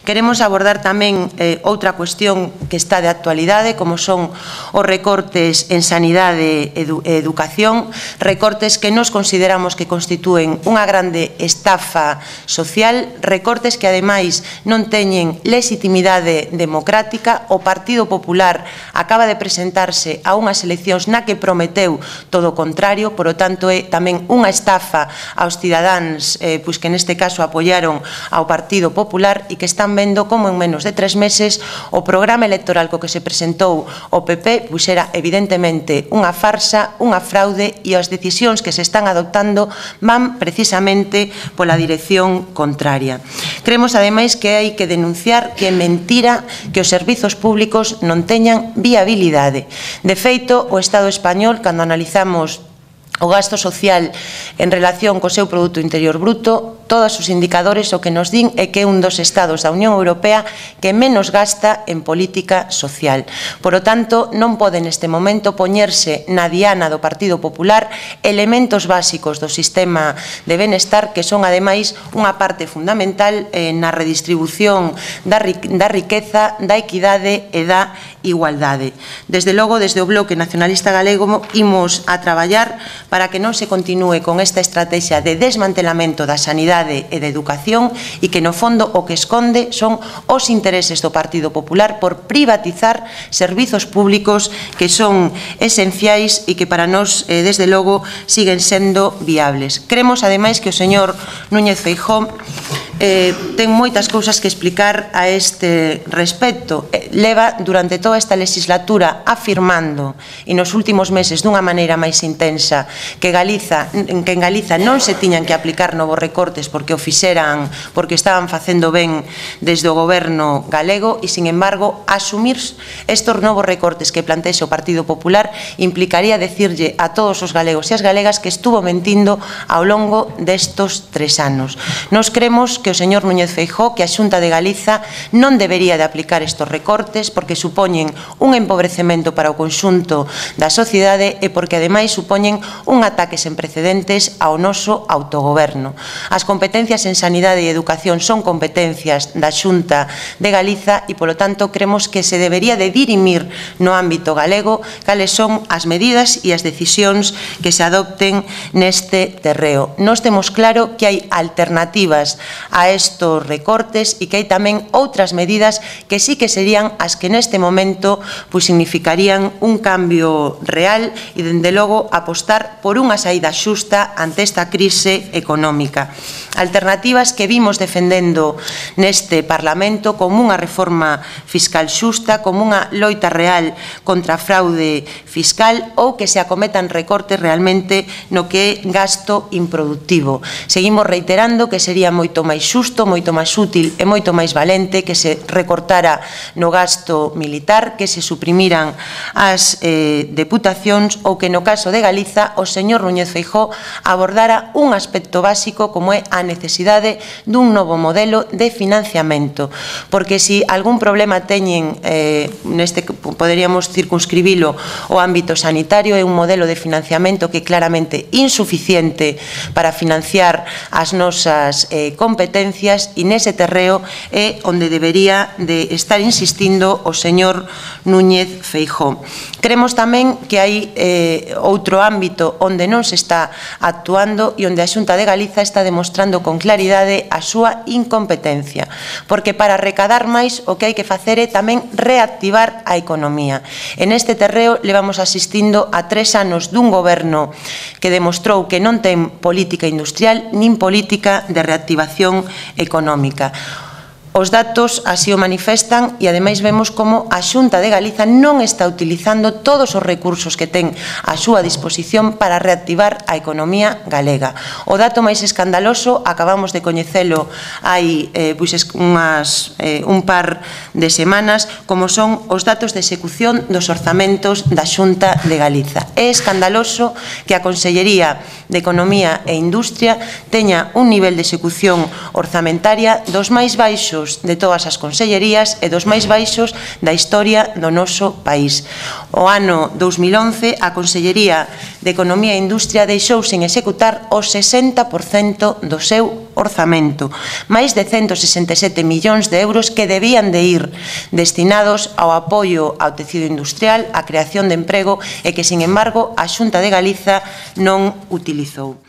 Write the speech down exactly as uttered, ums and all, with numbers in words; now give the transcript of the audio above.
Queremos abordar tamén eh, outra cuestión que está de actualidade, como son os recortes en sanidade e edu educación, recortes que nos consideramos que constitúen unha grande estafa social, recortes que ademais non teñen legitimidade democrática. O Partido Popular acaba de presentarse a unhas eleccións na que prometeu todo o contrario, por lo tanto é tamén unha estafa aos cidadáns eh, pois que neste caso apoiaron ao Partido Popular e que están vendo como en menos de tres meses o programa electoral co que se presentou o P P pois era evidentemente unha farsa, unha fraude, e as decisións que se están adoptando van precisamente pola dirección contraria. Creemos ademais que hai que denunciar que é mentira que os servizos públicos non teñan viabilidade. De feito, o Estado español, cando analizamos o gasto social en relación co seu Produto Interior Bruto, todos os indicadores o que nos din é que é un dos estados da Unión Europea que menos gasta en política social. Por lo tanto, non pode neste momento poñerse na diana do Partido Popular elementos básicos do sistema de benestar que son ademais unha parte fundamental eh, na redistribución da, ri da riqueza, da equidade e da igualdade. Desde logo, desde o Bloque Nacionalista Galego imos a traballar para que non se continúe con esta estrategia de desmantelamento da sanidade e da educación e que no fondo o que esconde son os intereses do Partido Popular por privatizar servizos públicos que son esenciais e que para nós, eh, desde logo, siguen sendo viables. Creemos, ademais, que o señor Núñez Feijóo eh, ten moitas cousas que explicar a este respecto. Eh, leva durante toda esta legislatura afirmando, e nos últimos meses dunha maneira máis intensa, que Galiza, que en Galiza non se tiñan que aplicar novos recortes porque o fixeran, porque estaban facendo ben desde o goberno galego, e, sin embargo, asumir estos novos recortes que plantexe o Partido Popular implicaría decirlle a todos os galegos e as galegas que estuvo mentindo ao longo destos tres anos. Nos creemos que o señor Núñez Feijóo, que a Xunta de Galiza non debería de aplicar estos recortes porque supoñen un empobrecemento para o conxunto da sociedade e porque ademais supoñen un ataque sen precedentes ao noso autogoberno. As competencias en sanidade e educación son competencias da Xunta de Galiza e, polo tanto, creemos que se debería de dirimir no ámbito galego cales son as medidas e as decisións que se adopten neste terreo. Nos temos claro que hai alternativas a estos recortes e que hai tamén outras medidas que sí que serían as que neste momento pois significarían un cambio real e, dende logo, apostar por unha saída xusta ante esta crise económica. Alternativas que vimos defendendo neste Parlamento como unha reforma fiscal xusta, como unha loita real contra a fraude fiscal ou que se acometan recortes realmente no que é gasto improductivo. Seguimos reiterando que sería moito máis xusto, moito máis útil e moito máis valente que se recortara no gasto militar, que se suprimiran as eh, deputacións ou que no caso de Galiza o señor Núñez Feijóo abordara un aspecto básico como é a necesidade dun novo modelo de financiamento, porque se si algún problema teñen, eh, neste poderíamos circunscribilo ao ámbito sanitario, é un modelo de financiamento que é claramente insuficiente para financiar as nosas eh, competencias, e nese terreo é onde debería de estar insistindo o señor Núñez Feijóo. Creemos tamén que hai eh, outro ámbito onde non se está actuando e onde a Xunta de Galiza está demostrando con claridade a súa incompetencia, porque para recadar máis o que hai que facer é tamén reactivar a economía. En este terreo levamos asistindo a tres anos dun goberno que demostrou que non ten política industrial nin política de reactivación económica. Os datos así o manifestan e, ademais, vemos como a Xunta de Galiza non está utilizando todos os recursos que ten a súa disposición para reactivar a economía galega. O dato máis escandaloso acabamos de coñecelo hai eh, pois, unhas, eh, un par de semanas, como son os datos de execución dos orzamentos da Xunta de Galiza. É escandaloso que a Consellería de Economía e Industria teña un nivel de execución orzamentaria dos máis baixos altos de todas as consellerías e dos máis baixos da historia do noso país. O ano dous mil once, a Consellería de Economía e Industria deixou sen executar o sesenta por cento do seu orzamento, máis de cento sesenta e sete millóns de euros que debían de ir destinados ao apoio ao tecido industrial, á creación de emprego e que, sin embargo, a Xunta de Galiza non utilizou.